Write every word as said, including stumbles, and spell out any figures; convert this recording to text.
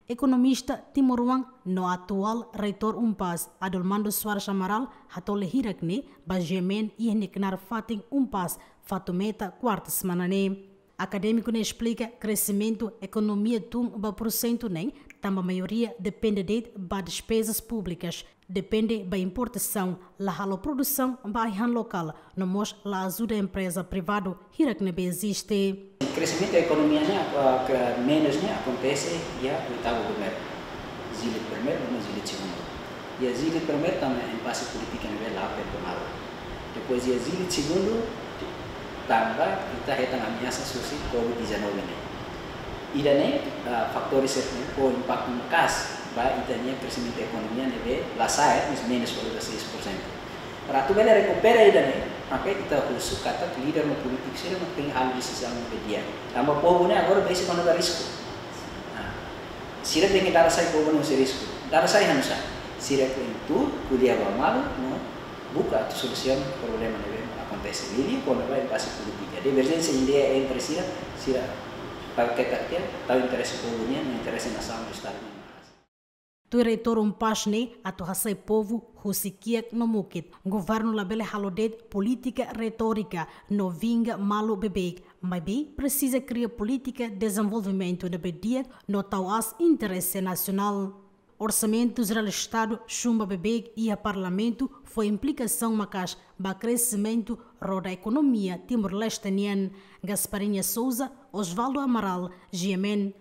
Ekonomista timoroan no atuál reitór UNPAZ, Adolmando Soares Amaral, hato'o hirak ne'e ba GMN iha nia knaar fatin UNPAZ, Fatumeta, kuarta semana ne'e. Akadémiku ne'e esplika kresimentu ekonomia tun ba pursentu neen, tanba maioria depende de'it ba despezas públikas, depende ba importasaun, la halo produsaun ba ai-han lokál, no mós la ajuda empreza privadu hirak ne'ebé eziste. Kresimentu ekonomia ne'e, ah, ke menus ne'e akontese iha oitavu primeiru, jilid primeiru no jilid segundu. Iha jilid primeiru tanba impase polítika ne'ebé la performadu. Depois iha jilid segundu tanba ita hetan ameasa husi Covid dezanove ne'e. Ida-ne'e, ah, fatór sira ne'e ho impaktu maka'as ba ita-nia kresimentu ekonomia ne'ebé la sa'e, mas menus valor seis por cento. Para atu bele rekupera ida-ne'e, maka ita husu katak líder no polítiku sira maka tenke halo desizaun ne'ebé di'ak. Tanba povu ne'e agora besik kona-ba risku. Nah, sira tenke dada sai povu ne'e husi risku. Dada sai hanusá? Sira tenke ko'alia ba malu no buka atu solusaun problema ne'ebé akontese. Liuliu kona-ba impase polítika. Diverjénsia ideia entre sira, sira tau ketak tiha, tau interese povu nian, interese nasaun no estadu nian. Tuir reitór UNPAZ ne'e, atu hasai povu husi kiak no mukit, governu labele halo de'it polítika retórika no vinga malu beibeik, maibé presiza kria polítika dezenvolvimentu ne'ebé di'ak no tau aas interese nasionál. Orsamentu Jerál Estadu chumba beibeik iha Parlamentu fó implikasaun maka'as ba kresimentu roda ekonomia Timor-Leste nian. Gasparinha Souza, Osvaldo Amaral, GMN,